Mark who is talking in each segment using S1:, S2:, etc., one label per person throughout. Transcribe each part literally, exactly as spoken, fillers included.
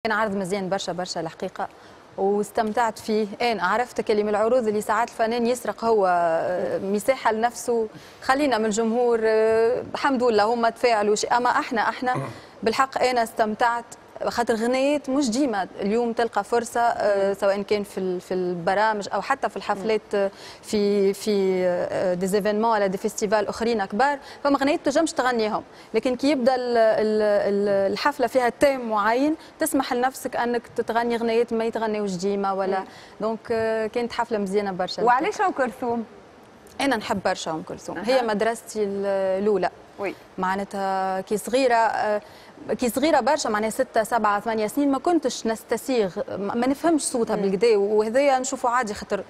S1: كان عرض مزيان برشا برشا الحقيقه، واستمتعت فيه. انا عرفت كلمة العروض اللي ساعات الفنان يسرق هو آه، مساحة لنفسه، خلينا من الجمهور، آه، الحمد لله هما تفاعلوا، اما احنا احنا بالحق انا استمتعت، خاطر غنيات مش ديما اليوم تلقى فرصه، آه، سواء كان في في البرامج او حتى في الحفلات، آه، في في des événements ولا des festivals اخرين كبار، فما غنيات تنجمش تغنيهم، لكن كي يبدا الحفلة فيها thème معين تسمح لنفسك انك تتغني غنيات ما يتغنيوش ديما ولا. donc آه، كانت حفلة مزيانه برشا.
S2: وعلاش ام كلثوم؟
S1: انا نحب برشا ام كلثوم، هي مدرستي الاولى.
S2: oui
S1: معناتها كي صغيره كي صغيرة برشا، معناها ستة سبعة ثمانية سنين، ما كنتش نستسيغ، ما نفهمش صوتها بالقدا، وهذايا نشوفه عادي خاطر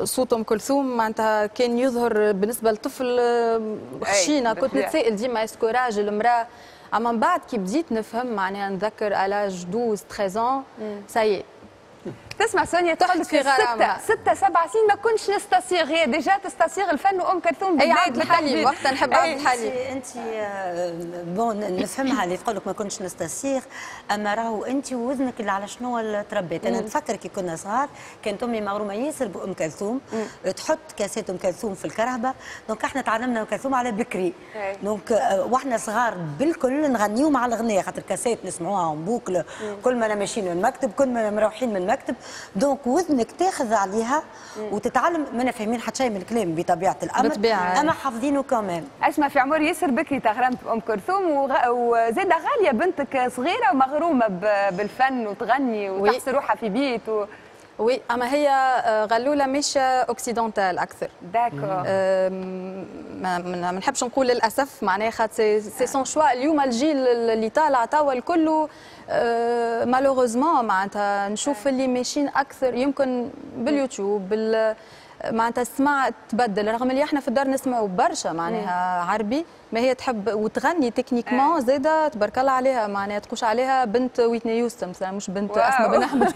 S1: صوت ام كلثوم معناتها كان يظهر بالنسبة لطفل خشينه. كنت نتسائل ديما est-ce que راجل، امراه؟ اما من بعد كي بديت نفهم، معناها نذكر à l'âge douze treize ça y est.
S2: تسمع سونيا تقول في ستة ستة سبع سنين ما كنتش نستصيغ، هي déjà تستصيغ الفن وام كلثوم.
S1: اي، عبد الحليم، وقتها نحب عبد الحليم.
S3: انت bon نفهمها اللي تقول لك ما كنتش نستصيغ، اما راهو انت وذنك اللي على شنو تربيت. انا نتفكر كي كنا صغار كانت امي مغرومه ياسر بام كلثوم، تحط كاسات ام كلثوم في الكرهبه، donc احنا تعلمنا ام كلثوم على بكري، donc واحنا صغار بالكل نغنيو مع الغنية خاطر كاسات نسمعوها en boucle، كل ما ماشيين من المكتب، كل ما مروحين من المكتب، donc وذنك تاخذ عليها وتتعلم. ما فاهمين حتى شيء من الكلام بطبيعة الامر،
S1: بالطبيعه،
S3: اما حافظينه quand même.
S2: اسمع، في عمر ياسر بكري تغرمت بام كلثوم، وغ... وزاده غالية بنتك صغيرة ومغرومه بالفن وتغني وتحس روحها في بيت و...
S1: oui، اما هي آه، غلوله مش occidentale اكثر.
S2: d'accord.
S1: ما ما نحبش نقول للاسف، معناها خاطر c'est son choix. اليوم الجيل اللي طالع توا الكل malheureusement معناتها نشوف اللي ماشيين اكثر يمكن باليوتيوب، بال معناتها السماع تبدل، رغم اللي احنا في الدار نسمعوا برشا معناها عربي، ما هي تحب وتغني techniquement زاده تبارك الله عليها، معناها تقوش عليها بنت ويتني هيوستن مثلا، مش بنت اسماء بن احمد.